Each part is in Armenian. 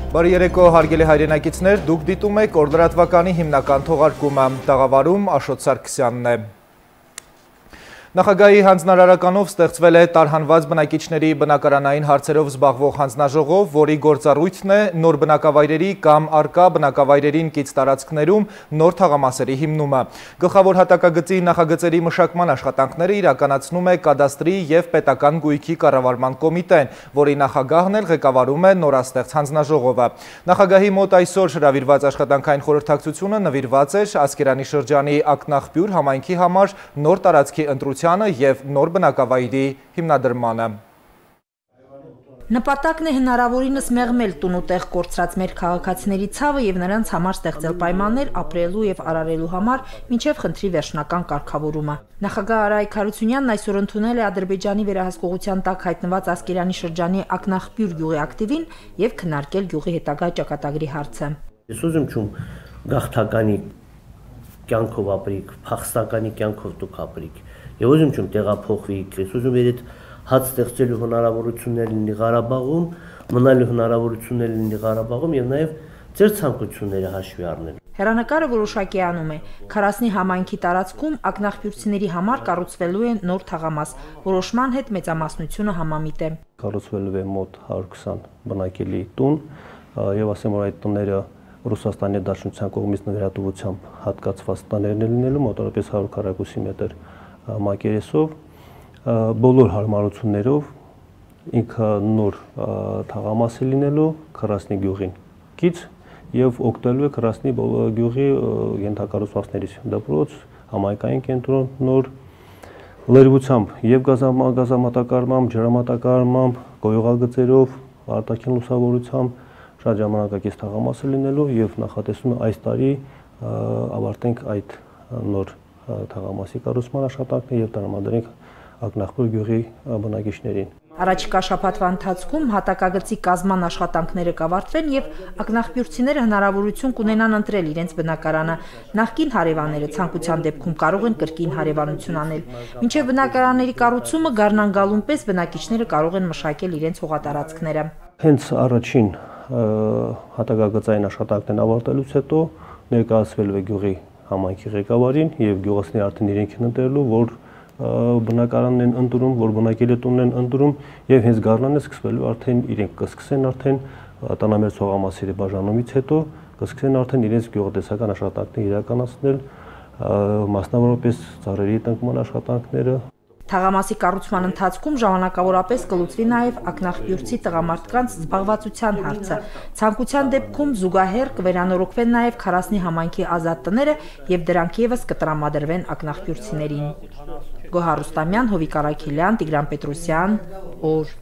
Բարի երեկո հարգելի հայրենակիցներ, դուք դիտում եք օրդրատվականի հիմնական թողարկումը, տաղավարում Աշոտ Սարգսյանն է։ Նախագահի հանձնարարականով ստեղծվել է տարհանված բնակիչների բնակարանային հարցերով զբաղվող հանձնաժողով, որի գործառույթն է նոր բնակավայրերի կամ առկա բնակավայրերին կից տարածքներում նոր թաղամասերի հիմնումը։ Գլխավոր հատակագծի նախագծերի մշակման աշխատանքները իրականացնում է կադաստրի և պետական գույքի կառավարման կոմիտեն, որի նախագահն էլ ղեկավարում է նորաստեղծ հանձնաժողովը։ Նախագահի մոտ այսօր հրավիրված աշխատանքային խորհրդակցությունը նվիրված էր Ասկերանի շրջանի Ակնաղբյուր համայնքի համար նոր տարածքի ընտրության և նոր բնակավայրի հիմնադրմանը։ Նպատակն է հնարավորինս մեղմել տուն ու տեղ կորցրած մեր քաղաքացիների ցավը և նրանց համար ստեղծել պայմաններ ապրելու և արարելու համար մինչև խնդրի վերջնական կարգավորումը։ Նախագահ Արայք Հարությունյանն այսօր ընդունել է Ադրբեջանի վերահսկողության տակ հայտնված Ասկերանի շրջանի Ակնաղբյուր գյուղի ակտիվին և քննարկել գյուղի հետագա ճակատագրի հարցը։ Ես ուզում չում գաղթականի կյանքով ապրիք, փախստականի կյանքով դուք ապրիք։ Եվ ուզում չում տեղափոխվիք, ես ուզում եմ այդ հաց ստեղծելու հնարավորություններ լինի Ղարաբաղում, մնալու հնարավորություններ լինի Ղարաբաղում եւ նաեւ ձեր ցանկությունները հաշվի առնել։ Հեռանկարը որոշակի անում է։ Քարասնի համայնքի տարածքում ակնաղբյուրցիների համար կառուցվելու է նոր թաղամաս, որոշման հետ մեծամասնությունը համամիտ է։ Կառուցվելու է մոտ 120 բնակելի տուն եւ ասեմ որ այդ տները Ռուսաստանի Դաշնության կողմից նվիրատվությամբ հատկացված տներն են լինելու մոտավորապես 100 քառակուսի մետր մակերեսով, բոլոր հարմարություններով ինքը նոր թաղամասի լինելու Քրասնի գյուղին կից եւ օգտվելու է Քրասնի գյուղի ենթակառուցվածքներից դպրոց, համայնքային կենտրոն, նոր լրիվությամբ եւ գազամատակարարմամբ, ջրամատակարարմամբ, գոյողագծերով, արտաքին լուսավորությամբ շատ ժամանակակից թաղամասը լինելու եւ նախատեսում է այս տարի ավարտենք այդ նոր թաղամասի կառուցման աշխատանքները եւ տրամադրենք Ակնաղբյուր գյուղի բնակիչներին։ Առաջիկա շաբաթվա ընթացքում հատակագծի կազման աշխատանքները կավարտվեն եւ ակնաղբյուրցիները հնարավորություն կունենան ընտրել իրենց բնակարանը։ Նախկին հարևանները ցանկության դեպքում կարող են կրկին հարևանություն անել։ Մինչեւ բնակարանների կառուցումը գարնան-գալուն պես բնակիչները կարող են մշակել իրենց հողատարածքները։ Հենց առաջին հատակագծային աշխատանքներն ավարտելուց հետո ներկայացվելու է գյուղի համայնքի ղեկավարին եւ գյուղացիները արդեն իրենք են ընտրելու, որ բնակարանն են ընտրում, որ բնակելի տունն են ընտրում եւ հենց գարնանը սկսվելու արդեն իրենք կսկսեն արդեն տանամերձ հողամասերի բաժանումից հետո կսկսեն արդեն իրենց գյուղատնտեսական աշխատանքները իրականացնել, մասնավորապես ծառերի տնկման աշխատանքները։ Թաղամասի կառուցման ընթացքում ժամանակավորապես կլուծվի նաև ակնաղբյուրցի տղամարդկանց զբաղվածության հարցը։ Ցանկության դեպքում զուգահեռ կվերանորոգվեն նաև Քարասնի համայնքի ազատ տները եւ դրանք եւս կտրամադրվեն ակնաղբյուրցիներին։ Գոհար Ռուստամյան, Հովիկ Արաքելյան, Տիգրան Պետրոսյան, օր։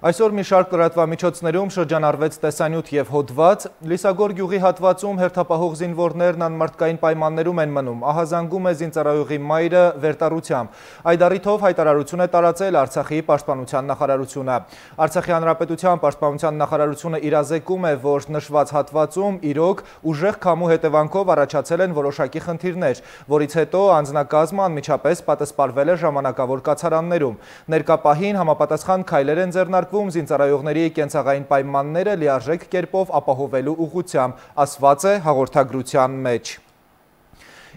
Այսօր մի շարք լրատվամիջոցներում շրջանառվեց տեսանյութ և հոդված, Լիսագոր գյուղի հատվածում հերթապահող զինվորներն անմարդկային պայմաններում են մնում, ահազանգում է զինծառայողի մայրը վերտառությամբ։ Այդ առիթով հայտարարություն է տարածել Արցախի պաշտպանության նախարարությունը։ Արցախի հանրապետության պաշտպանության նախարարությունը իրազեկում է, որ նշված հատվածում իրոք ուժեղ քամու հետևանքով առաջացել են որոշակի խնդիրներ, որից հետո անձնակազմը անմիջապես պատասպարվել է ժամանակավոր կացարաններում։ Ներկա պահին համապատասխան քայլեր են ձեռնարկվում զինծառայողների կենցաղային պայմանները լիարժեք կերպով ապահովելու ուղղությամբ, ասված է հաղորդագրության մեջ։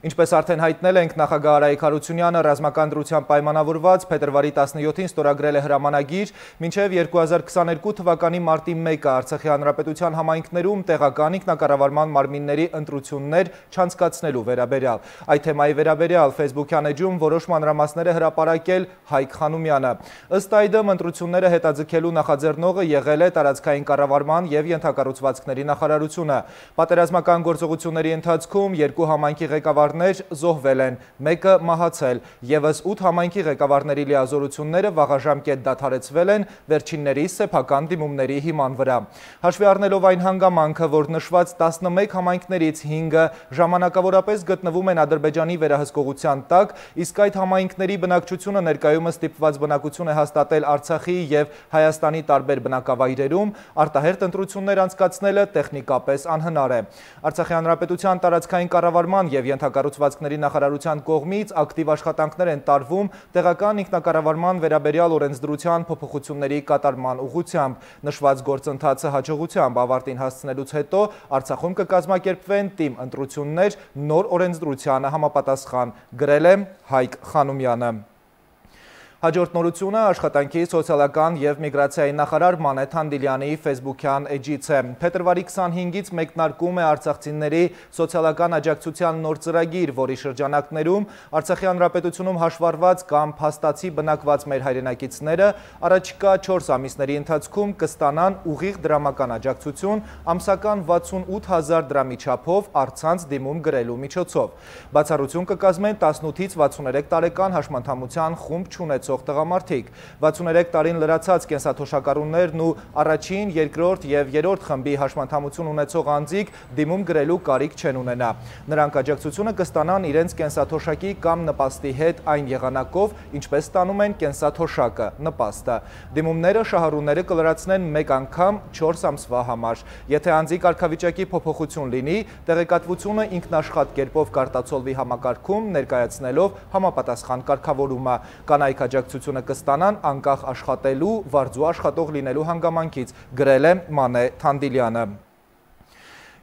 Ինչպես արդեն հայտնել ենք, նախագահ Արայք Հարությունյանը ռազմական դրությամբ պայմանավորված փետրվարի 17-ին ստորագրել է հրամանագիր մինչև 2022 թվականի մարտի 1-ը Արցախի հանրապետության համայնքներում տեղական ինքնակառավարման մարմինների ընտրություններ չանցկացնելու վերաբերյալ։ Այդ թեմայի վերաբերյալ Facebook-յան էջում որոշ մանրամասներ է հրապարակել Հայկ Խանոմյանը։ Ըստ այդմ ընտրությունները հետաձգելու նախաձեռնողը եղել է տարածքային կառավարման և ենթակառուցվածքների նախարարությունը։ Պատերազմական գործողությունների ընթացքում երկու համայնքի ղեկավարներ զոհվել են, մեկը մահացել, ևս 8 համայնքի ղեկավարների լիազորությունները վաղաժամկետ դադարեցվել են վերջինների սեփական դիմումների հիման վրա։ Հաշվի առնելով այն հանգամանքը, որ նշված 11 համայնքներից 5-ը ժամանակավորապես գտնվում են Ադրբեջանի վերահսկողության տակ, իսկ այդ համայնքների բնակչությունը ներկայումս ստիպված բնակություն է հաստատել Արցախի և Հայաստանի տարբեր բնակավայրերում, արտահերթ ընտրություններ անցկացնելը տեխնիկապես անհնար է։ Արցախի հանրապետության տարածքային կառավարման և ենթակառուցվածքների կառուցվածքների նախարարության կողմից ակտիվ աշխատանքներ են տարվում տեղական ինքնակառավարման վերաբերյալ օրենսդրության փոփոխությունների կատարման ուղղությամբ։ Նշված գործընթացը հաջողությամբ ավարտին հասցնելուց հետո Արցախում կկազմակերպվեն թիմ ընտրություններ նոր օրենսդրությանը համապատասխան, գրել է Հայկ Խանոմյանը։ Հաջորդ նորությունը աշխատանքի սոցիալական և միգրացիայի նախարար Մանեթ Թանդիլյանի ֆեյսբուքյան էջից է։ Փետրվարի 25-ից մեկնարկում է արցախցիների սոցիալական աջակցության նոր ծրագիր, որի շրջանակներում Արցախի հանրապետությունում հաշվառված կամ փաստացի բնակված մեր հայրենակիցները առաջիկա 4 ամիսների ընթացքում կստանան ուղիղ դրամական աջակցություն ամսական 68,000 դրամի չափով առցանց դիմում գրելու միջոցով։ Բացառություն կկազմեն 18-ից 63 տարեկան հաշմանդամության խումբ չունեցող տղամարդիկ, 63 տարին լրացած կենսաթոշակառուներն ու առաջին, երկրորդ և երրորդ խմբի հաշմանդամություն ունեցող անձիկ դիմում գրելու կարիք չեն ունենա։ Նրանք աջակցությունը կստանան իրենց կենսաթոշակի կամ նպաստի հետ այն եղանակով, ինչպես ստանում են կենսաթոշակը, նպաստը։ Դիմումները շահառուները կլրացնեն մեկ անգամ 4 ամսվա համար։ Եթե անձի կարգավիճակի փոփոխություն լինի, տեղեկատվությունը ինքնաշխատ կերպով կարտացոլվի համակարգում, ներկայացնելով համապատասխան կարգավորումը։ Կանայք աջակցությունը կստանան անկախ աշխատելու, վարձու աշխատող լինելու հանգամանքից, գրել է Մանե Թանդիլյանը։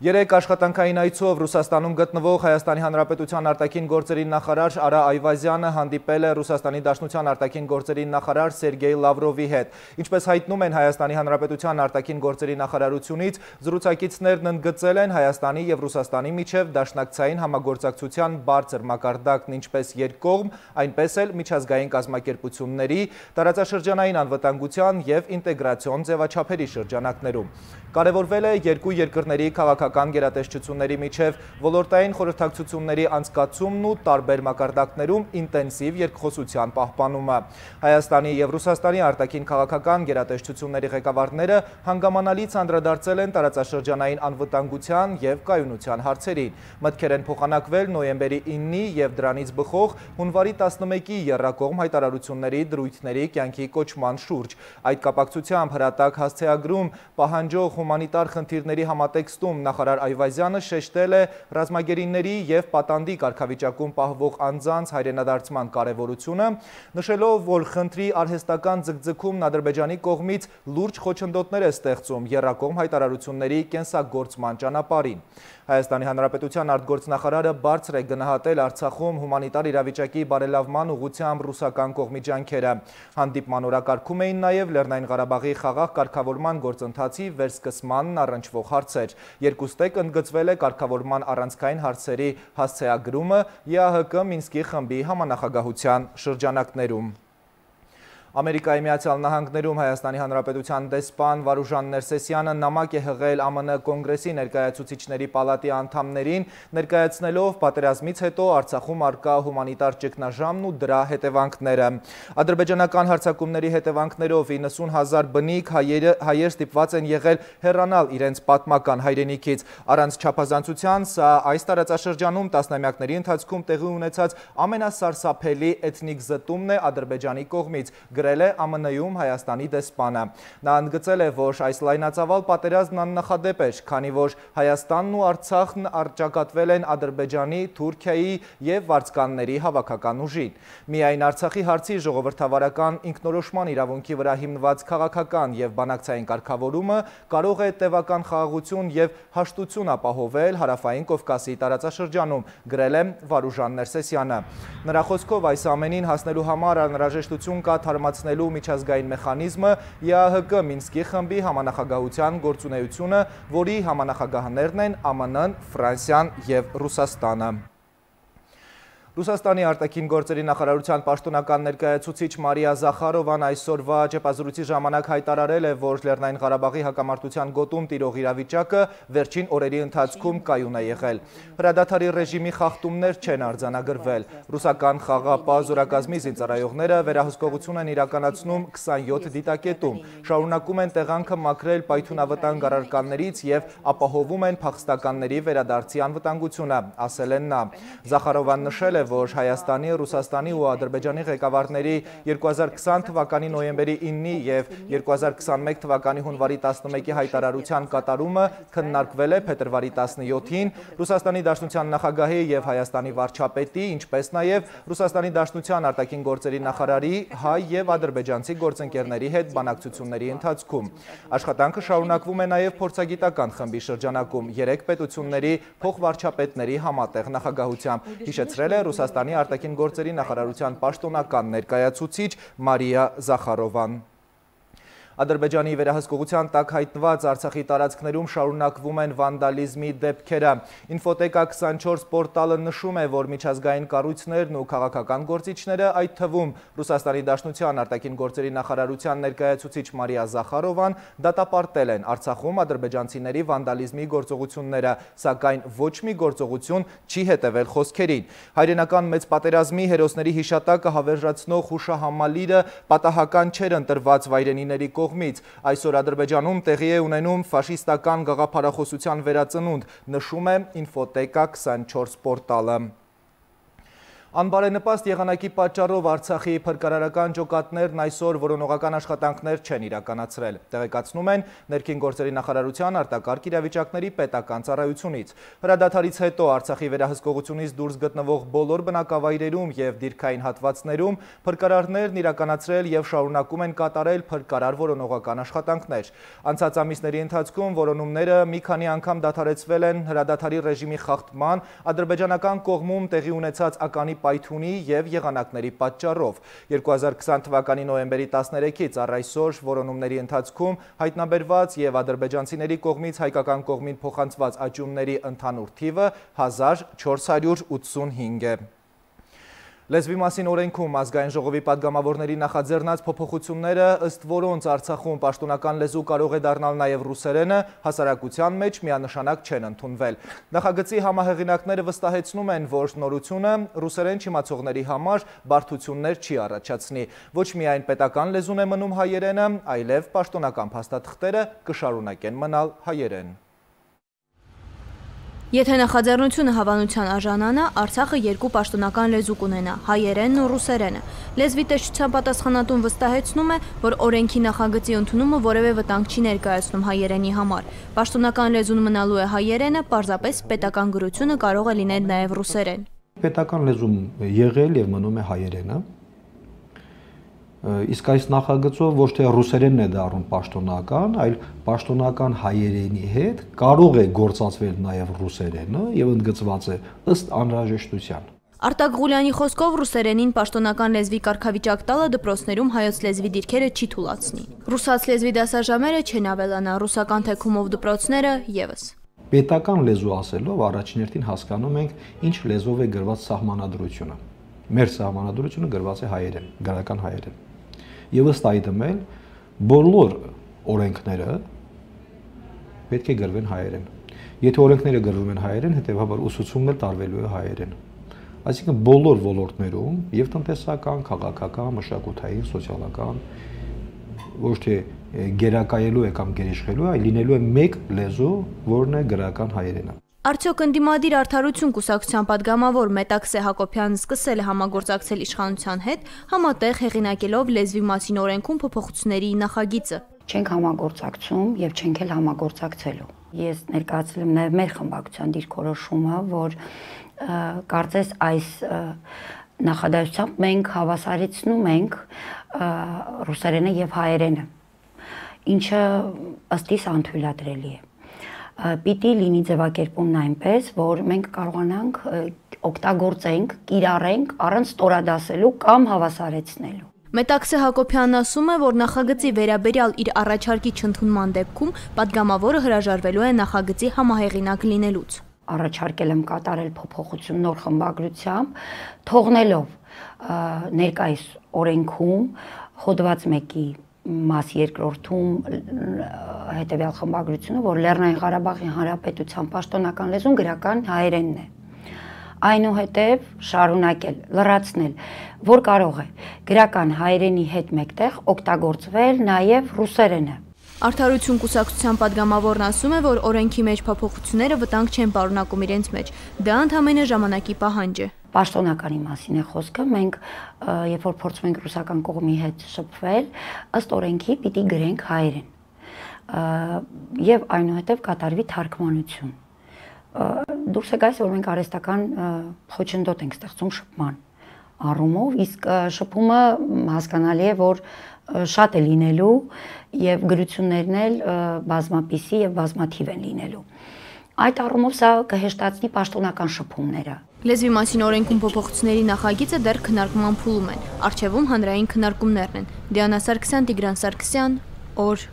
Երեք աշխատանքային այցով Ռուսաստանում գտնվող Հայաստանի Հանրապետության արտաքին գործերի նախարար Արա Այվազյանը հանդիպել է Ռուսաստանի Դաշնության արտաքին գործերի նախարար Սերգեյ Լավրովի հետ։ Ինչպես հայտնում են Հայաստանի Հանրապետության արտաքին գործերի նախարարությունից, զրուցակիցներն ընդգծել են Հայաստանի և Ռուսաստանի միջև դաշնակցային համագործակցության բարձր մակարդակն ինչպես երկկողմ, այնպես էլ միջազգային կազմակերպությունների, տարածաշրջանային անվտանգության և ինտեգրացիոն ձևաչափերի շրջանակներում։ Կարևորվել է երկու երկրների քաղաքական գերատեսչությունների միջև ոլորտային խորհրդակցությունների անցկացումն ու տարբեր մակարդակներում ինտենսիվ երկխոսության պահպանումը։ Հայաստանի և Ռուսաստանի արտաքին քաղաքական գերատեսչությունների ղեկավարները հանգամանալից անդրադարձել են տարածաշրջանային անվտանգության և կայունության հարցերին։ Մտքեր են փոխանակվել նոյեմբերի 9-ի և դրանից բխող հունվարի 11-ի եռակողմ հայտարարությունների դրույթների կյանքի կոչման շուրջ։ Այդ կապակցությամբ հրատակ հասցեագրում պահանջող հումանիտար խնդիրների համատեքստում նախարար Այվազյանը շեշտել է ռազմագերիների և պատանդի կարգավիճակում պահվող անձանց հայրենադարձման կարևորությունը, նշելով, որ խնդրի արհեստական ձգձգումն Ադրբեջանի կողմից լուրջ խոչընդոտներ է ստեղծում եռակողմ հայտարարությունների կենսագործման ճանապարհին։ Հայաստանի Հանրապետության արտգործնախարարը բարձր է գնահատել Արցախում հումանիտար իրավիճակի բարելավման ուղղությամբ ռուսական կողմի ջանքերը։ Հանդիպման օրակարգում էին նաև Լեռնային Ղարաբաղի խաղաղ կարգավորման գործընթացի վերսկսմանն առնչվող հարցեր։ Երկուստեք ընդգծվել է կարգավորման առանցքային հարցերի հասցեագրումը ԵԱՀԿ Մինսկի խմբի համանախագահության շրջանակներում։ Ամերիկայի Միացյալ Նահանգներում Հայաստանի Հանրապետության դեսպան Վարուժան Ներսեսյանը նամակ է հղել ԱՄՆ Կոնգրեսի ներկայացուցիչների պալատի անդամներին, ներկայացնելով պատերազմից հետո Արցախում առկա հումանիտար ճգնաժամն ու դրա հետևանքները։ Ադրբեջանական հարձակումների հետևանքներով 90,000 բնիկ հայեր ստիպված են եղել հեռանալ իրենց պատմական հայրենիքից։ Առանց չափազանցության սա այս տարածաշրջանում տասնամյակների ընթացքում տեղի ունեցած ամենասարսափելի էթնիկ զտումն է Ադրբեջանի կողմից, գրել է ԱՄՆ-ում Հայաստանի դեսպանը։ Նա ընդգծել է, որ այս լայնածավալ պատերազմն աննախադեպ էր, քանի որ Հայաստանն ու Արցախն առճակատվել են Ադրբեջանի, Թուրքիայի և վարձկանների հավաքական ուժին։ Միայն Արցախի հարցի ժողովրդավարական ինքնորոշման իրավունքի վրա հիմնված քաղաքական և բանակցային կարգավորումը կարող է տևական խաղաղություն և հաշտություն ապահովել Հարավային Կովկասի տարածաշրջանում, գրել է Վարուժան Ներսեսյանը։ Նրա խոսքով այս ամենին հասնելու համար անհրաժեշտություն կա թարմացնելու միջազգային մեխանիզմը ԵԱՀԿ Մինսկի խմբի համանախագահության գործունեությունը, որի համանախագահներն են ԱՄՆ-ն, Ֆրանսիան և Ռուսաստանը։ Ռուսաստանի արտաքին գործերի նախարարության պաշտոնական ներկայացուցիչ Մարիա Զախարովան այսօրվա ճեպազրույցի ժամանակ հայտարարել է, որ Լեռնային Ղարաբաղի հակամարտության գոտում տիրող իրավիճակը վերջին օրերի ընթացքում կայուն է եղել։ Հրադադարի ռեժիմի խախտումներ չեն արձանագրվել։ Ռուսական խաղաղապահ զորակազմի զինծառայողները վերահսկողություն են իրականացնում 27 դիտակետում, շարունակում են տեղանքը մաքրել պայթյունավտանգ առարկաններից և ապահովում են փախստականների վերադարձի անվտանգությունը, ասել են նա։ Զախարովան նշել է, է, որ Հայաստանի, Ռուսաստանի ու Ադրբեջանի ղեկավարների 2020 թվականի նոյեմբերի 9-ի եւ 2021 թվականի հունվարի 11-ի հայտարարության կատարումը քննարկվել է փետրվարի 17-ին Ռուսաստանի Դաշնության նախագահի եւ Հայաստանի վարչապետի, ինչպես նաեւ Ռուսաստանի Դաշնության արտաքին գործերի նախարարի, հայ եւ ադրբեջանցի գործընկերների հետ բանակցությունների ընթացքում։ Աշխատանքը շարունակվում է նաեւ փորձագիտական խմբի շրջանակում 3 պետությունների փոխվարչապետների համատեղ նախագահությամբ, հիշեցրել է Ռուսաստանի արտաքին գործերի նախարարության պաշտոնական ներկայացուցիչ Մարիա Զախարովան։ Ադրբեջանի վերահսկողության տակ հայտնված Արցախի տարածքներում շարունակվում են վանդալիզմի դեպքերը։ Ինֆոտեկա 24 պորտալը նշում է, որ միջազգային կառույցներն ու քաղաքական գործիչները, այդ թվում Ռուսաստանի Դաշնության արտաքին գործերի նախարարության ներկայացուցիչ Մարիա Զախարովան, դատապարտել են Արցախում ադրբեջանցիների վանդալիզմի գործողությունները, սակայն ոչ մի գործողություն չի հետևել խոսքերին։ Հայրենական մեծ պատերազմի հերոսների հիշատակը հավերժացնող հուշահամալիրը պատահական չէր ընտրված վայրենիների կողմից։ Այսօր Ադրբեջանում տեղի է ունենում ֆաշիստական գաղափարախոսության վերածնունդ, նշում է Ինֆոտեկա 24 պորտալը։ Անբարենպաստ եղանակի պատճառով Արցախի փրկարարական ջոկատներն այսօր որոնողական աշխատանքներ չեն իրականացրել, տեղեկացնում են Ներքին գործերի նախարարության արտակարգ իրավիճակների պետական ծառայությունից։ Հրադադարից հետո Արցախի վերահսկողությունից դուրս գտնվող բոլոր բնակավայրերում եւ դիրքային հատվածներում փրկարարներն իրականացրել եւ շարունակում են կատարել փրկարար որոնողական աշխատանքներ։ Անցած ամիսների ընթացքում որոնումները մի քանի անգամ դադարեցվել են հրադադարի ռեժիմի խախտման, ադրբեջանական կողմում տեղի ունեցած ականի պայթունի եւ եղանակների պատճառով։ 2020 թվականի նոյեմբերի 13-ից առ այսօր որոնումների ընթացքում հայտնաբերված եւ ադրբեջանցիների կողմից հայկական կողմին փոխանցված աճյունների ընդհանուր թիվը 1485 է։ Լեզվի մասին օրենքում ազգային ժողովի պատգամավորների նախաձեռնած փոփոխությունները, ըստ որոնց Արցախում պաշտոնական լեզու կարող է դառնալ նաև ռուսերենը, հասարակության մեջ միանշանակ չեն ընդունվել։ Նախագծի համահեղինակները վստահեցնում են, որ նորությունը ռուսերեն չիմացողների համար բարդություններ չի առաջացնի։ Ոչ միայն պետական լեզուն է մնում հայերենը, այլև պաշտոնական փաստաթղթերը կշարունակեն մնալ հայերեն։ Եթե նախաձեռնությունը հավանության արժանանա, Արցախը երկու պաշտոնական լեզու կունենա՝ հայերենն ու ռուսերենը։ Լեզվի տեսչության պատասխանատուն վստահեցնում է, որ օրենքի նախագծի ընդունումը որևէ վտանգ չի ներկայացնում հայերենի համար։ Պաշտոնական լեզուն մնալու է հայերենը, պարզապես պետական գրությունը կարող է լինել նաև ռուսերեն։ Պետական լեզում եղել եւ մնում է հայերենը։ Իսկ այս նախագծով ոչ թե ռուսերենն է դառնում պաշտոնական, այլ պաշտոնական հայերենի հետ կարող է գործածվել նաև ռուսերենը եւ ընդգծված է ըստ անհրաժեշտության։ Արտակ Ղուլյանի խոսքով ռուսերենին պաշտոնական լեզվի կարգավիճակ տալը դպրոցներում հայոց լեզվի դիրքերը չի թույլատնի։ Ռուսաց լեզվի դասաժամերը չեն ավելանա, ռուսական թեքումով դպրոցները եւս։ Պետական լեզու ասելով առաջին հերթին հասկանում ենք ինչ լեզվով է գրված սահմանադրությունը։ Մեր սահմանադրությունը գրված է հայերեն, գրական հայերեն։ Եվ ըստ այդմ էլ բոլոր օրենքները պետք է գրվեն հայերեն։ Եթե օրենքները գրվում են հայերեն, հետեւաբար ուսուցումն էլ տարվելու է հայերեն։ Այսինքն բոլոր ոլորտներում եւ տնտեսական, քաղաքական, մշակութային, սոցիալական ոչ թե գերակայելու է կամ գերիշխելու, այլ լինելու է մեկ լեզու, որն է գրական հայերենը։ Արդյոք ընդդիմադիր արդարություն կուսակցության պատգամավոր Մետաքսե Հակոբյանն սկսել է համագործակցել իշխանության հետ, համատեղ հեղինակելով լեզվի մասին օրենքում փոփոխությունների նախագիծը։ Չենք համագործակցում եւ չենք էլ համագործակցելու։ Ես ներկայացրել եմ նաեւ մեր խմբակցության դիրքորոշումը, որ կարծես այս նախադասությամբ մենք հավասարեցնում ենք ռուսերենը եւ հայերենը, ինչը ըստ իս անթույլատրելի է։ Պիտի լինի ձևակերպումն այնպես, որ մենք կարողանանք օգտագործենք, կիրառենք առանց ստորադասելու կամ հավասարեցնելու։ Մետաքսե Հակոբյանն ասում է, որ նախագծի վերաբերյալ իր առաջարկի չընդունման դեպքում պատգամավորը հրաժարվելու է նախագծի համահեղինակ լինելուց։ Առաջարկել եմ կատարել փոփոխություն նոր խմբագրությամբ, թողնելով ներկայիս օրենքում հոդված 1-ի մաս երկրորդում հետևյալ խմբագրությունը, որ Լեռնային Ղարաբաղի Հանրապետության պաշտոնական լեզուն գրական հայերենն է։ Այնուհետև շարունակել, լրացնել, որ կարող է գրական հայերենի հետ մեկտեղ օգտագործվել նաև ռուսերենը։ Արդարություն կուսակցության պատգամավորն ասում է, որ օրենքի մեջ փոփոխությունները վտանգ չեն պարունակում իրենց մեջ, դա ընդամենը ժամանակի պահանջ է։ Պաշտոնականի մասին է խոսքը, մենք երբ որ փորձում ենք ռուսական կողմի հետ շփվել, ըստ օրենքի պիտի գրենք հայերեն։ Եվ այնուհետև կատարվի թարգմանություն։ Դուրս է գալիս, որ մենք արհեստական խոչընդոտ ենք ստեղծում շփման առումով, իսկ շփումը հասկանալի է, որ շատ է լինելու եւ գրություններն էլ բազմապիսի եւ բազմաթիվ են լինելու։ Այդ առումով սա կհեշտացնի պաշտոնական շփումները։ Լեզվի մասին օրենքում փոփոխությունների նախագիծը դեռ քննարկման փուլում են։ Առջևում հանրային քննարկումներն են։ Դիանա Սարգսյան, Տիգրան Սարգսյան, օր։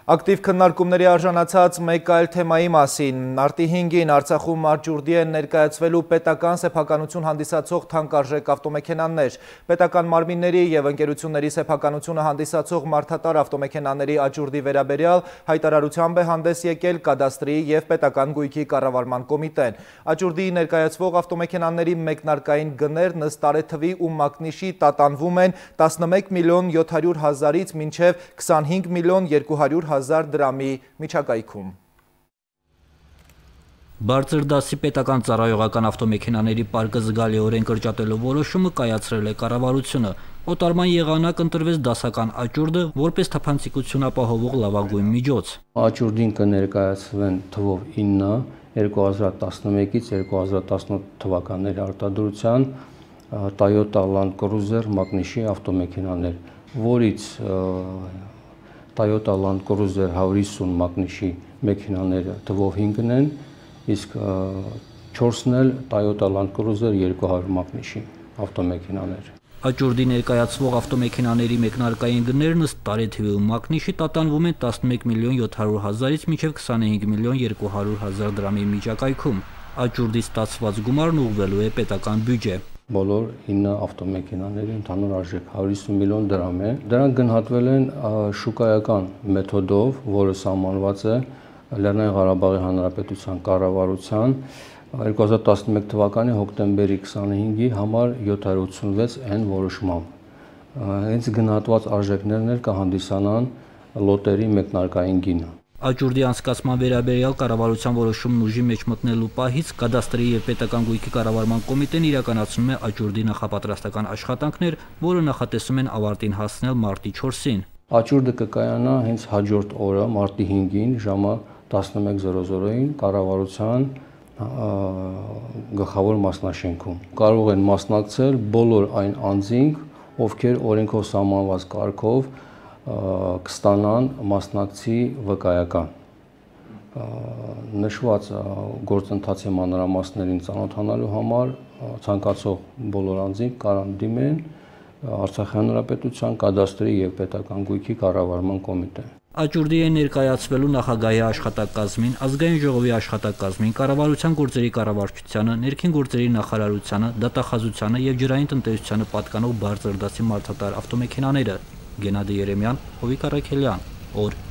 Ակտիվ քննարկումների արժանացած մեկ այլ թեմայի մասին մարտի 5-ին Արցախում Աջուրդի են ներկայացվելու պետական սեփականություն հանդիսացող թանկարժեք ավտոմեքենաներ։ Պետական մարմինների եւ ընկերությունների սեփականությունը հանդիսացող մարդատար ավտոմեքենաների Աջուրդի վերաբերյալ հայտարարությամբ է հանդես եկել կադաստրի եւ պետական գույքի կառավարման կոմիտեն։ Աջուրդի ներկայացվող ավտոմեքենաների մեկնարկային գներն ըստ տարեթվի ու մակնիշի տատանվում են 11 միլիոն 700 հազարից մինչեւ 25 միլիոն 200 1000 դրամի միջակայքում։ Բարձր դասի պետական ծառայողական ավտոմեքենաների պարկը զգալիորեն կրճատելու որոշումը կայացրել է կառավարությունը։ Օտարման եղանակ ընտրվեց դասական աճուրդը որպես թափանցիկություն ապահովող լավագույն միջոց։ Աճուրդին կներկայացվեն թվով 9 2011-ից 2018 թվականների արտադրության Toyota Land Cruiser մակնիշի ավտոմեքենաներ, որից Toyota Land Cruiser 150 մակնիշի մեքենաները թվով 5-ն են, իսկ 4-ն էլ Toyota Land Cruiser 200 մակնիշի ավտոմեքենաներ։ Աճուրդի ներկայացվող ավտոմեքենաների մեկնարկային գներն ըստ տարեթվի ու մակնիշի տատանվում են 11 միլիոն 700 հազարից մինչև 25 միլիոն 200 հազար դրամի միջակայքում։ Աճուրդի ստացված գումարն ուղղվելու է պետական բյուջե։ Բոլոր 9 ավտոմեքենաների ընդհանուր արժեք 150 միլիոն դրամ է։ Դրանք գնահատվել են շուկայական մեթոդով, որը սահմանված է Լեռնային Ղարաբաղի Հանրապետության կառավարության 2011 թվականի հոկտեմբերի 25-ի համար 786N որոշմամբ։ Հենց գնահատված արժեքներն էլ կհանդիսանան լոտերի մեկնարկային գինը։ Աճուրդի անցկացման վերաբերյալ կառավարության որոշումն ուժի մեջ մտնելու պահից կադաստրի եւ պետական գույքի կառավարման կոմիտեն իրականացնում է Աճուրդի նախապատրաստական աշխատանքներ, որը նախատեսում են ավարտին հասնել մարտի 4-ին։ Աճուրդը կկայանա հենց հաջորդ օրը մարտի 5-ին ժամը 11:00-ին կառավարության գլխավոր մասնաշենքում։ Կարող են մասնակցել բոլոր այն անձինք, ովքեր օրենքով սահմանված կարգով կստանան մասնակցի վկայական։ Նշված գործընթացի մանրամասներին ծանոթանալու համար ցանկացող բոլոր անձինք կարող դիմեն Արցախի Հանրապետության կադաստրի եւ պետական գույքի կառավարման կոմիտեն։ Աճուրդի է ներկայացվելու նախագահի աշխատակազմին, ազգային ժողովի աշխատակազմին, կառավարության գործերի կառավարչությանը, ներքին գործերի նախարարությանը, դատախազությանը եւ ջրային տնտեսությանը պատկանող բարձր դասի մարդատար ավտոմեքենաները։ Գենադի Երեմյան, Հովիկ Առաքելյան, օր։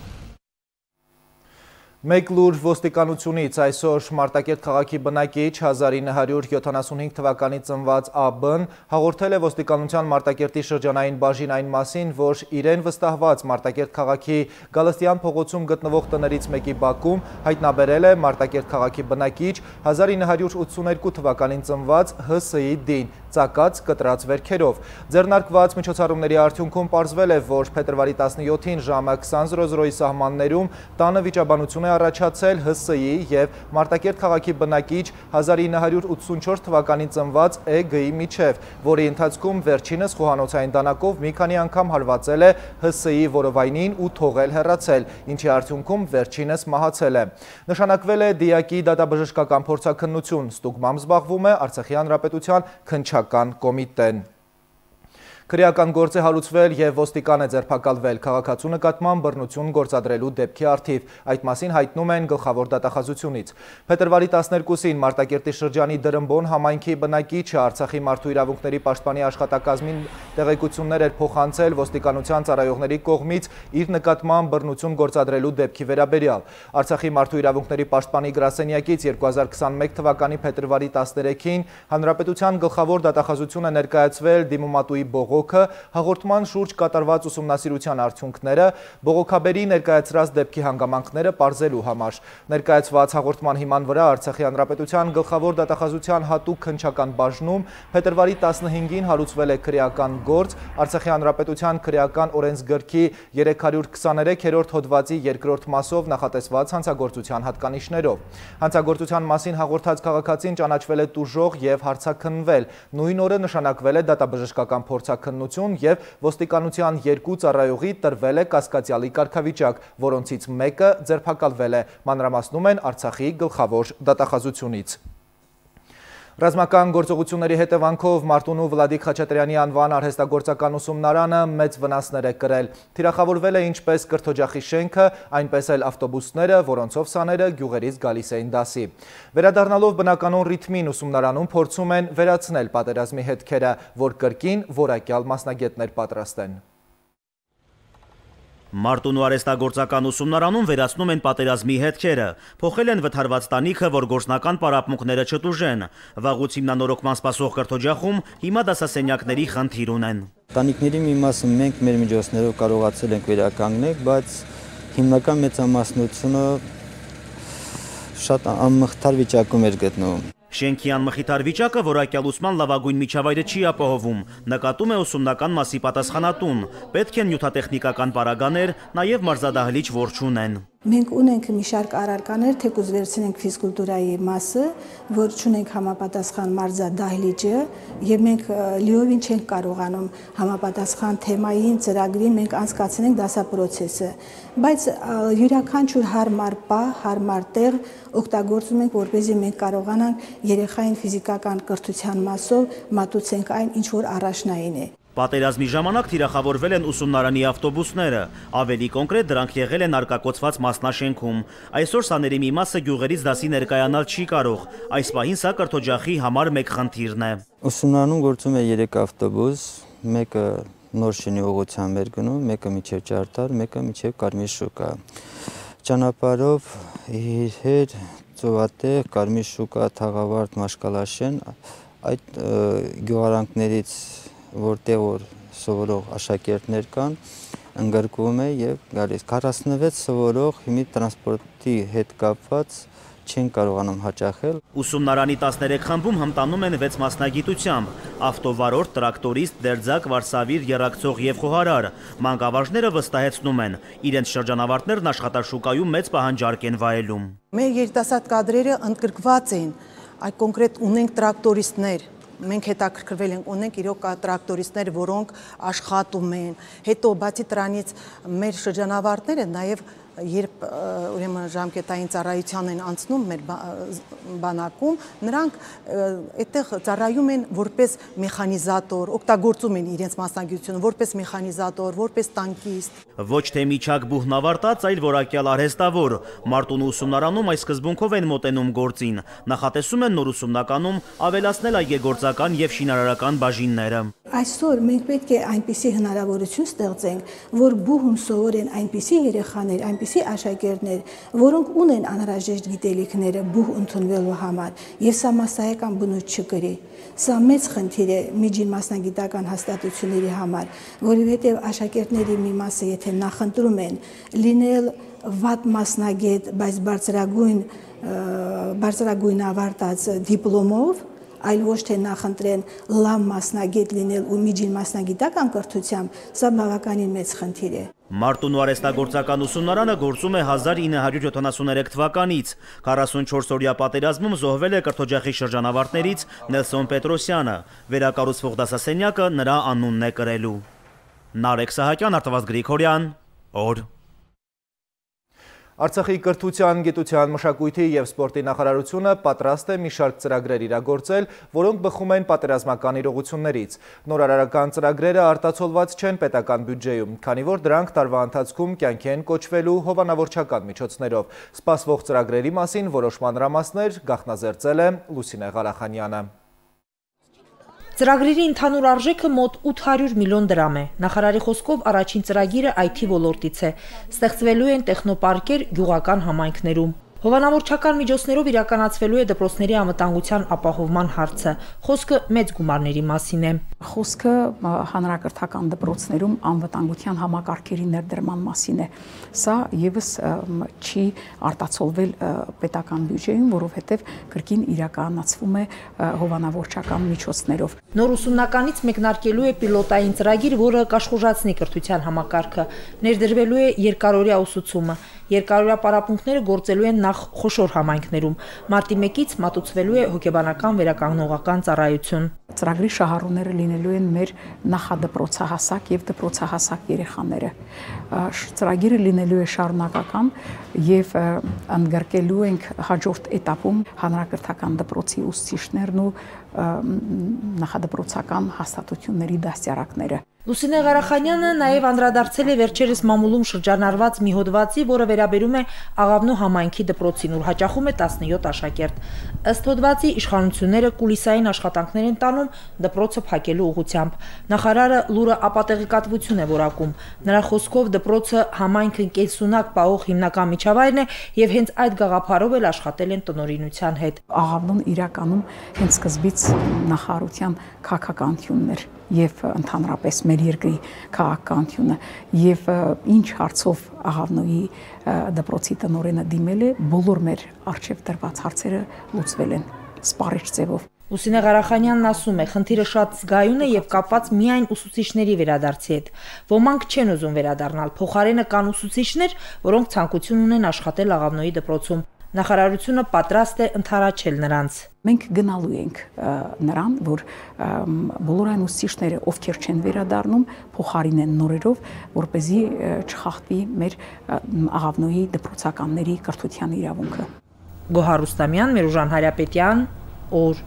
Մեկ լուր ոստիկանությունից այսօր Մարտակերտ քաղաքի բնակիչ 1975 թվականի ծնված ԱԲ-ն հաղորդել է ոստիկանության Մարտակերտի շրջանային բաժին այն մասին, որ իրեն վստահված Մարտակերտ քաղաքի Գալստյան փողոցում գտնվող տներից մեկի բակում հայտնաբերել է Մարտակերտ քաղաքի բնակիչ 1982 թվականին ծնված ՀՍ-ի դին, ծակած կտրած վերքերով։ Ձեռնարկված միջոցառումների արդյունքում պարզվել է, որ փետրվարի 17-ին ժամը 20:00-ի սահմաններում տանը վիճաբանություն է առաջացել ՀՍ-ի եւ Մարտակերտ քաղաքի բնակիչ 1984 թվականին ծնված ԷԳ-ի միջև, որի ընթացքում վերջինս խոհանոցային դանակով մի քանի անգամ հարվածել է ՀՍ-ի որովայնին ու թողել հեռացել, ինչի արդյունքում վերջինս մահացել է։ Նշանակվել է դիակի դատաբժշկական փորձաքննություն, ստուգմամբ զբաղվում է Արցախի Հանրապետության քննչական կոմիտեն։ Քրեական գործ է հարուցվել եւ ոստիկան է ձերբակալվել քաղաքացու նկատմամբ բռնություն գործադրելու դեպքի առթիվ։ Այդ մասին հայտնում են գլխավոր դատախազությունից։ Փետրվարի 12-ին Մարտակերտի շրջանի Դրմբոն համայնքի բնակիչը Արցախի մարդու իրավունքների պաշտպանի աշխատակազմին տեղեկություններ էր փոխանցել ոստիկանության ծառայողների կողմից իր նկատմամբ բռնություն գործադրելու դեպքի վերաբերյալ։ Արցախի մարդու իրավունքների պաշտպանի գրասենյակից 2021 թվականի փետրվարի 13-ին Հանրապետության գլխավոր դատախազություն է ներկայացվել դիմումատուի բողոք բողոքը, հաղորդման շուրջ կատարված ուսումնասիրության արդյունքները, բողոքաբերի ներկայացրած դեպքի հանգամանքները պարզելու համար։ Ներկայացված հաղորդման հիման վրա Արցախի Հանրապետության գլխավոր դատախազության հատուկ քննչական բաժնում փետրվարի 15-ին հարուցվել է քրեական գործ Արցախի Հանրապետության քրեական օրենսգրքի 323-րդ հոդվածի 2-րդ մասով նախատեսված հանցագործության հատկանիշներով։ Հանցագործության մասին հաղորդած քաղաքացին ճանաչվել է տուժող և հարցաքննվել։ Նույն օրը նշանակվել է դատաբժշկական փորձաքննություն և ոստիկանության 2 ծառայողի տրվել է կասկածյալի կարգավիճակ, որոնցից մեկը ձերբակալվել է, մանրամասնում են Արցախի գլխավոր դատախազությունից։ Ռազմական գործողությունների հետևանքով Մարտունու Վլադիկ Խաչատրյանի անվան արհեստագործական ուսումնարանը մեծ վնասներ է կրել։ Թիրախավորվել է ինչպես կրթօջախի շենքը, այնպես էլ ավտոբուսները, որոնցով սաները գյուղերից գալիս էին դասի։ Վերադառնալով բնականոն ռիթմին ուսումնարանում փորձում են վերացնել պատերազմի հետքերը, որ կրկին որակյալ մասնագետներ պատրաստեն։ Մարտունու արհեստագործական ուսումնարանում վերացնում են պատերազմի հետքերը, փոխել են վթարված տանիքը, որ գործնական պարապմունքները չտուժեն։ Վաղուց հիմնանորոգման սպասող կրթօջախում հիմա դասասենյակների խնդիր ունեն։ Տանիքների մի մասը մենք մեր միջոցներով կարողացել ենք վերականգնել, բայց հիմնական մեծամասնությունը շատ անմխիթար վիճակում էր գտնվում։ Շենքի անմխիթար վիճակը որակյալ ուսման լավագույն միջավայրը չի ապահովում, նկատում է ուսումնական մասի պատասխանատուն, պետք են նյութատեխնիկական պարագաներ, նաև մարզադահլիճ, որ չունեն։ Մենք ունենք մի շարք առարկաներ, թեկուզ վերցնենք ֆիզկուլտուրայի մասը, որ չունենք համապատասխան մարզադահլիճը, եւ մենք լիովին չենք կարողանում համապատասխան թեմային ծրագրին մենք անցկացնենք դասապրոցեսը, բայց յուրաքանչյուր հարմար պահ, հարմար տեղ օգտագործում ենք, որպեսզի մենք կարողանանք երեխային ֆիզիկական կրթության մասով մատուցենք այն, ինչ որ առաջնային է։ Պատերազմի ժամանակ թիրախավորվել են ուսումնարանի ավտոբուսները, ավելի կոնկրետ դրանք եղել են արկակոծված մասնաշենքում։ Այսօր սաների մի մասը գյուղերից դասի ներկայանալ չի կարող, այս պահին սա կրթօջախի համար մեկ խնդիրն է։ Ուսումնարանում գործում է 3 ավտոբուս, մեկը նոր շենի ուղղությամբ էր գնում, մեկը մինչև Ճարտար, մեկը մինչև Կարմիր շուկա։ Ճանապարհով իր հետ Ծովատեղ, Կարմիր շուկա, Թաղավարտ, Մաշկալաշեն, այդ գյուղարանքներից որտեղ որ սովորող աշակերտներ կան, ընդգրկվում է եւ գալիս 46 սովորող հիմի տրանսպորտի հետ կապված չեն կարողանում հաճախել։ Ուսումնարանի 13 խմբում հմտանում են 6 մասնագիտությամբ՝ ավտովարորդ, տրակտորիստ, դերձակ, վարսավիր, եռակցող եւ խոհարար։ Մանկավարժները վստահեցնում են, իրենց շրջանավարտներն աշխատաշուկայում մեծ պահանջարկ են վայելում։ Մեր երիտասարդ կադրերը ընդգրկված են, այդ կոնկրետ ունենք տրակտորիստներ։ Մենք հետաքրքրվել ենք, ունենք իրոք տրակտորիստներ, որոնք աշխատում են։ Հետո բացի դրանից մեր շրջանավարտները նաև երբ ուրեմն ժամկետային ծառայության են անցնում մեր բանակում, նրանք այդտեղ ծառայում են որպես մեխանիզատոր, օգտագործում են իրենց մասնագիտությունը որպես մեխանիզատոր, որպես տանկիստ։ Ոչ թե միջակ բուհն ավարտած, այլ որակյալ արհեստավոր։ Մարտունու ուսումնարանում այս սկզբունքով են մոտենում գործին։ Նախատեսում են նոր ուսումնականում ավելացնել այգեգործական եւ շինարարական բաժինները։ Այսօր մենք պետք է այնպիսի հնարավորություն ստեղծենք, որ բուհում սովորեն այնպիսի երեխաներ, այնպիսի աշակերտներ, որոնք ունեն անհրաժեշտ գիտելիքները բուհ ընդունվելու համար, եւ սա մասսայական բնույթ չկրի։ Սա մեծ խնդիր է միջին մասնագիտական հաստատությունների համար, որովհետեւ աշակերտների մի մասը եթե նախընտրում են լինել վատ մասնագետ, բայց բարձրագույն ավարտած դիպլոմով, այլ ոչ թե նախընտրեն լավ մասնագետ լինել ու միջին մասնագիտական կրթությամբ, սա բավականին մեծ խնդիր է։ Մարտունու արհեստագործական ուսումնարանը գործում է 1973 թվականից։ 44-օրյա պատերազմում զոհվել է կրթօջախի շրջանավարտներից Նելսոն Պետրոսյանը։ Վերակառուցվող դասասենյակը նրա անունն է կրելու։ Նարեկ Սահակյան, Արտավազդ Գրիգորյան, օր։ Արցախի կրթության, գիտության, մշակույթի և սպորտի նախարարությունը պատրաստ է մի շարք ծրագրեր իրագործել, որոնք բխում են պատերազմական իրողություններից։ Նորարարական ծրագրերը արտացոլված չեն պետական բյուջեում, քանի որ դրանք տարվա ընթացքում կյանքի են կոչվելու հովանավորչական միջոցներով։ Սպասվող ծրագրերի մասին որոշ մանրամասներ գաղտնազերծել է Լուսինե Ղարախանյանը։ Ծրագրերի ընդհանուր արժեքը մոտ 800 միլիոն դրամ է։ Նախարարի խոսքով առաջին ծրագիրը IT ոլորտից է։ Ստեղծվելու են տեխնոպարկեր գյուղական համայնքներում։ Հովանավորչական միջոցներով իրականացվելու է դպրոցների անվտանգության ապահովման հարցը։ Խոսքը մեծ գումարների մասին է։ Խոսքը հանրակրթական դպրոցներում անվտանգության համակարգերի ներդրման մասին է։ Սա եւս չի արտացոլվել պետական բյուջեում, որովհետեւ կրկին իրականացվում է հովանավորչական միջոցներով։ Նոր ուսումնականից մեկնարկելու է պիլոտային ծրագիր, որը կաշխուժացնի կրթության համակարգը։ Ներդրվելու է երկարօրյա ուսուցումը։ Երկարօրյա պարապմունքները գործելու են նախ խոշոր համայնքներում։ Մարտի 1-ից մատուցվելու է հոգեբանական վերականգնողական ծառայություն։ Ծրագրի շահառուները լինելու են մեր նախադպրոցահասակ եւ դպրոցահասակ երեխաները։ Ծրագիրը լինելու է շարունակական եւ ընդգրկելու ենք հաջորդ էտապում հանրակրթական դպրոցի ուսուցիչներն ու նախադպրոցական հաստատությունների դաստիարակները։ Լուսինե Ղարախանյանը նաև անդրադարձել է վերջերս մամուլում շրջանառված մի հոդվածի, որը վերաբերում է Աղավնու համայնքի դպրոցին, ուր հաճախում է 17 աշակերտ։ Ըստ հոդվածի իշխանությունները կուլիսային աշխատանքներ են տանում դպրոցը փակելու ուղղությամբ։ Նախարարը լուրը ապատեղեկատվություն է որակում։ Նրա խոսքով դպրոցը համայնքն կենսունակ պահող հիմնական միջավայրն է եւ հենց այդ գաղափարով էլ աշխատել են տնօրինության հետ։ Աղավնուն իրականում հենց սկզբից նախարարության քաղաքականությունն էր եւ ընդհանրապես մեր երկրի քաղաքականությունը եւ ինչ հարցով Աղավնոյի դպրոցի տնօրենը դիմել է, բոլոր մեր արժեվ դրված հարցերը լուծվել են սպառիչ ձևով։ Լուսինե Ղարախանյանն ասում է, խնդիրը շատ զգայուն է եւ կապված միայն ուսուցիչների վերադարձի հետ։ Ոմանք չեն ուզում վերադառնալ, փոխարենը կան ուսուցիչներ, որոնք ցանկություն ունեն աշխատել Աղավնոյի դպրոցում։ Նախարարությունը պատրաստ է ընդառաջել նրանց։ Մենք գնալու ենք նրան, որ բոլոր այն ուսուցիչները, ովքեր չեն վերադառնում, փոխարինեն նորերով, որ เป զի չխախտվի մեր Աղավնոյի դպրոցականների կրթության իրավունքը։ Գոհար Ռուստամյան, Միրուժան Հարապետյան, օր։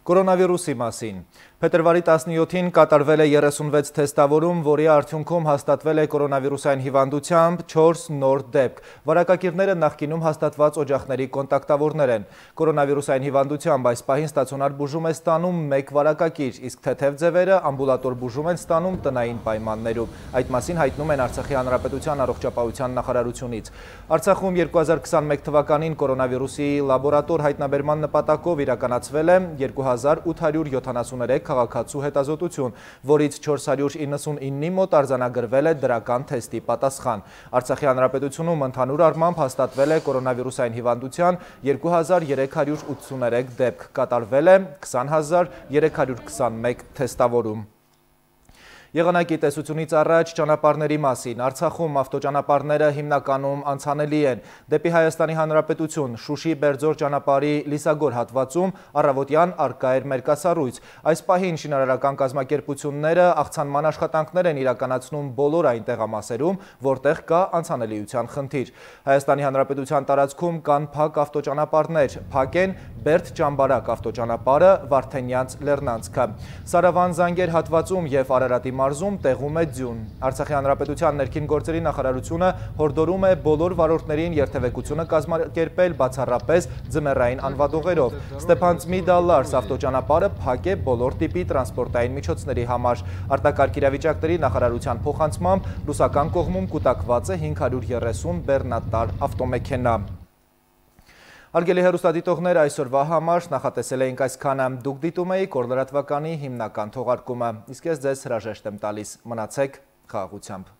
Կորոնավիրուսի մասին։ Փետրվարի 17-ին կատարվել է 36 թեստավորում, որի արդյունքում հաստատվել է կորոնավիրուսային հիվանդությամբ 4 նոր դեպք։ Վարակակիրները նախկինում հաստատված օջախների կոնտակտավորներ են։ Կորոնավիրուսային հիվանդությամբ այս պահին ստացիոնար բուժում է ստանում 1 վարակակիր, իսկ թեթև ձևերը ամբուլատոր բուժում են ստանում տնային պայմաններում։ Այդ մասին հայտնում են Արցախի Հանրապետության առողջապահության նախարարությունից։ Արցախում 2021 թվականին կորոնավիրուսի լաբորատոր հայտնաբերման նպատակով իրականացվել է 2873 քաղաքացու հետազոտություն, որից 499-ի մոտ արձանագրվել է դրական թեստի պատասխան։ Արցախի Հանրապետությունում ընդհանուր առմամբ հաստատվել է կորոնավիրուսային հիվանդության 2383 դեպք, կատարվել է 20321 թեստավորում։ Եղանակի տեսությունից առաջ ճանապարհների մասին։ Արցախում ավտոճանապարհները հիմնականում անցանելի են։ Դեպի Հայաստանի Հանրապետություն Շուշի Բերձոր ճանապարհի Լիսագոր հատվածում առավոտյան առկա էր մերկասառույց։ Այս պահին շինարարական կազմակերպությունները աղցանման աշխատանքներ են իրականացնում բոլոր այն տեղամասերում, որտեղ կա անցանելիության խնդիր։ Հայաստանի Հանրապետության տարածքում կան փակ ավտոճանապարհներ, փակ են Բերդ-Ճամբարակ ավտոճանապարհը, Վարդենյանց Լեռնանցքը։ Սարավան Զանգեր հատվածում եւ Արարատի մարզում տեղում է ձյուն։ Արցախի Հանրապետության ներքին գործերի նախարարությունը հորդորում է բոլոր վարորդներին երթևեկությունը կազմակերպել բացառապես ձմեռային անվադողերով։ Ստեփանցմի-Դալլարս ավտոճանապարհը փակ է բոլոր տիպի տրանսպորտային միջոցների համար։ Արտակարգ իրավիճակների նախարարության փոխանցմամբ ռուսական կողմում կուտակված է 530 բեռնատար ավտոմեքենա։ Հարգելի հեռուստադիտողներ, այսօրվա համար նախատեսել էինք այսքանը։ Դուք դիտում էիք օր լրատվականի հիմնական թողարկումը, իսկ ես ձեզ հրաժեշտ եմ տալիս։ Մնացեք խաղաղությամբ։